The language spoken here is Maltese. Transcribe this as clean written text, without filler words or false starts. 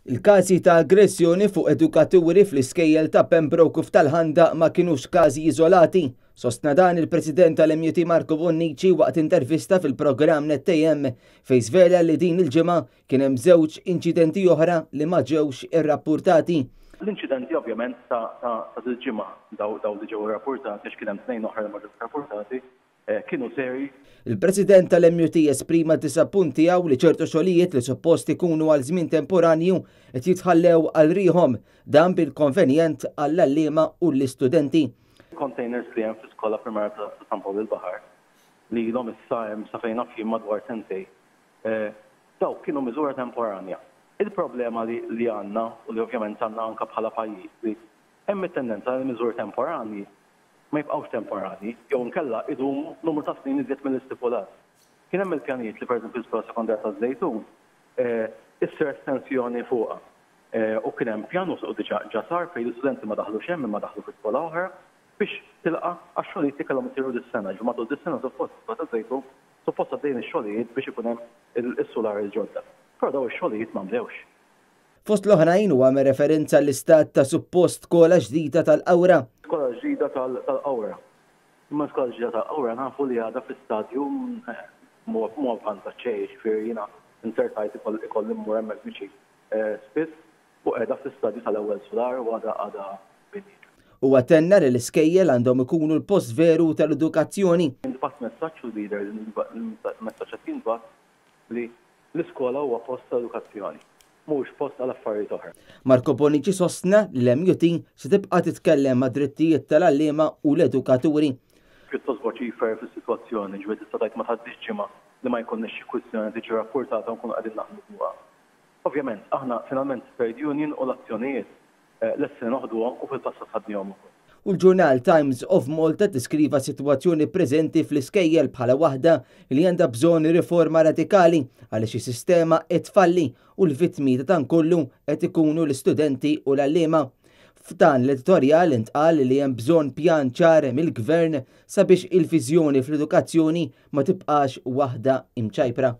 Il-każi ta' aggressjoni fuq edukaturi fl-iskejjel ta' Pembroke u f'Tal-Ħandaq ma kinux każi iżolati. Sostna dan il-President tal-MUT Marco Bonnici waqt intervista fil-programm Net AM fejn żvela li din il-ġimgħa kien hemm żewġ inċidenti oħra li ma ġewx irrappurtati. L-inċidenti ovvjament ta' dil-ġimgħa, dawn li ġew irrappurtati, għax kien hemm tnejn oħra li ma ġewx irrappurtati, kienu serji. Il-President tal-MUT esprima d-disappunt tiegħu li ċertu xogħlijiet li suppost ikunu għal żmien temporanju qed jitħallew għal riħhom, dan bil-konvenjent għall-għalliema u l-istudenti. Containers li hemm fl-iskola primarja ta' San Pawl il-Baħar li ilhom issa hemm sa fejn naf jien madwar sentejn, dawk kienu miżura temporanja. Il-problema li għandna u li ovvjament għandna anke bħala pajjiż li hemm it-tendenza li l-miżuri temporanji ma jibqgħux temporanji jew inkella idumu numru ta' snin iżjed mill-istipulat. Kien hemm il-pjanijiet li pereżempju l-Iskola Sekondarja taż-Żejtun issir estensjoni fuqha u kien hemm pjan u diġà ġa sar fejn l-istudenti ma daħlux hemm imma daħlu fi skola oħra biex tilqa' għax-xogħlijiet li kellhom isiru dis-sena. Jiġifieri matul dis-sena suppost l-Iskola taż-Żejtun suppost għaddejjin ix-xogħlijiet biex ikun hemm is-sular il-ġodda. Però dawn ix-xogħlijiet ma nbdewx. Fost l-oħrajn huwa għamel referenza għall-istat ta' suppost skola ġdida tal-Qawra. Skola ġdida tal-Qawra. Imma l-skola ġdida tal-Qawra nafu li għadha fi stadju mhu avvanzat xejn, jiġifieri jiena inzertajt ikolli mmur hemmhekk viċin spiss u qiegħda fl-istadju tal-ewwel sular u għadha għadha binjiet. Huwa tenna li l-iskejjel għandhom ikunu l-post veru tal-edukazzjoni. Intbagħat messaġġ u jidher li l-messaġġ qed jintbagħat li L-iskola huwa post ta' edukazzjoni, mhuwiex post għal affarijiet oħra. Marco Bonnici sostna li l-MUT se tibqa' titkellem għad-drittijiet tal-għalliema u l-edukaturi. Pjuttost voċifer fis-sitwazzjoni, ġifieri tista' tgħid ma tgħaddix ġimgħa li ma jkollniex xi kwistjoni tiġi rappurtata u nkunu qegħdin naħdmu fuqha. Ovvjament, aħna finalment trade union u l-azzjonijiet Lesti li noħduhom u fil-passat ħadnihom ukoll. U l-ġurnal Times of Malta ddiskriva s-sitwazzjoni preżenti fl-iskejjel bħala waħda li għandha bżonn riforma radikali għaliex is-sistema qed tfalli u l-vittmi ta' dan kollu qed ikunu l-istudenti u l-għalliema. F'dan l-editorjal intqal li hemm bżonn pjan ċar mill-Gvern sabiex il-viżjoni fl-edukazzjoni ma tibqax waħda imċajpra.